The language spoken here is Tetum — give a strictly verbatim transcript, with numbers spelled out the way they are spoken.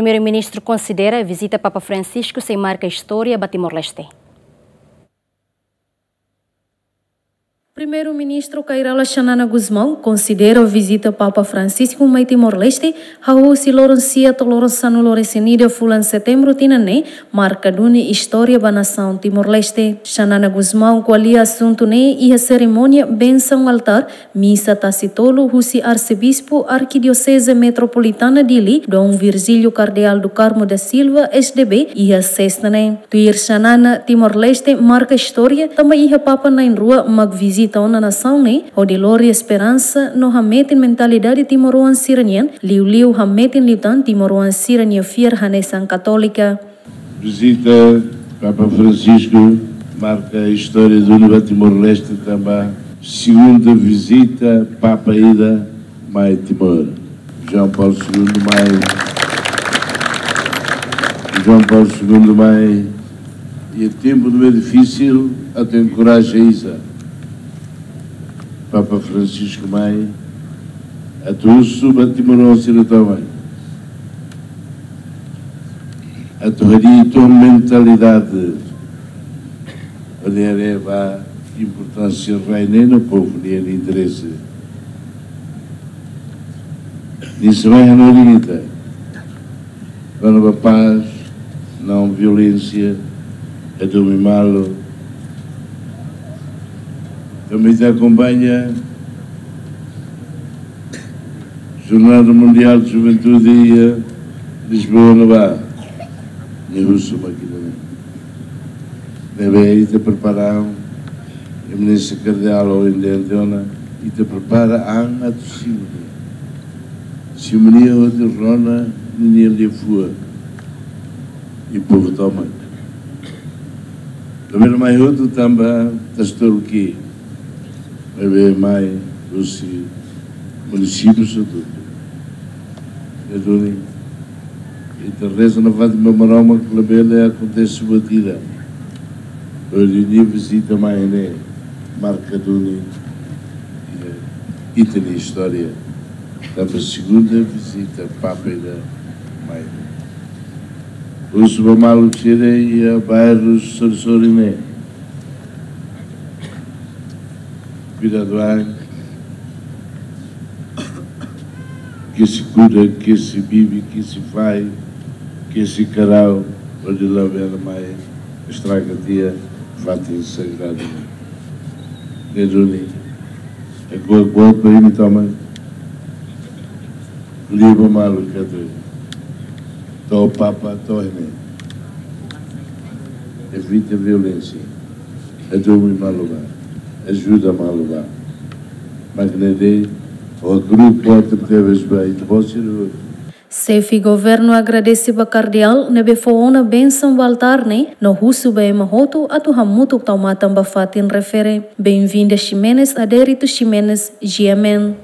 Primeiru-Ministru konsidera vizita Papa Francisco sei marka istória ba Timor-Leste. Primeiru-Ministru Kay Rala Xanana Gusmão konsidera vizita Papa Francisco mai Timor-Leste, hahú husi loron sia to'o loron sanulu-resin-ida fulan Setembru tinan ne'e, marka duni istória ba nasaun Timor-Leste. Xanana Gusmão ko'alia asuntu ne'e iha serimónia bensaun altár misa tasi tolu husi Arsebispu Arkidioseze Metropolitana Dili, Dom Virgílio Cardeal do Carmo da Silva, S D B, iha sesta ne'e. Tuir Xanana, Timor-Leste marka istória tanba iha Papa na'in-rua mak vizita ona nasaun ne'e, hodi lori esperansa no hametin mentalidade timoroan sira-nian, liuliu hametin liután timoroan sira-nia fiar hanesan katólika. Vizita Papa Francisco marka istória duni ba Timor-Leste tanba segunda vizita Papa ida mai Timor. João Paulo Segundo mai, João Paulo Segundo mai, iha tempu ne'ebé difisil, atu enkoraja iha Papa Francisco mai, atu husu ba timoroan sira tomak, atu hadi'a uitoan mentalidade hodi haree ba importánsia rai ne'e no povu nia interese. Nia sei mai hanorin ita kona-ba pás, não violénsia, é domin malu. Tanba ita akompaña Jornada Mundial de Juventude iha Lisboa ne'ebá, nia husu mak ida-ne'e. Ne'ebé ita prepara an, Eminénsia Kardeál, ohin dehan tiha ona, ita prepara an atu simu nia. Simu nia hodi rona ninia liafuan. I povu tomak. Tanba nia mai hotu tanba Tastor ke, maibé mai husi munisípiu hotu. Ne'e duni, ita reza nafatin ba Maromak labele akontese buat ida hodi nia vizita mai ne'e marka duni iha ita-nia istória. Tanba segunda vizita Papa ida mai. Husu ba maluk sira iha bairru sorin-sorin ne'e. Kuidadu an, ke sei kuda, ke sei bibi, ke sei fahi, ke sei karau, hodi labele mai estraga tiha fatin sagradu. Ne'e duni, é ko'alia ba imi tomak, liu ba maluk katak to'o Papa to'o ne'e. Evita violénsia. Hadomi malu bá. Ajuda malu bá. Mak ne'e de'it, ha'u hakarak ko'alia tebes ba ita-boot sira. Xefe Governu agradese ba Kardeál ne'ebé fó ona bensaun ba altár ne'e, no husu ba ema hotu atu hamutuk tau matan ba fatin refere. Benvinda Ximenes, Adérito Ximenes, G M N.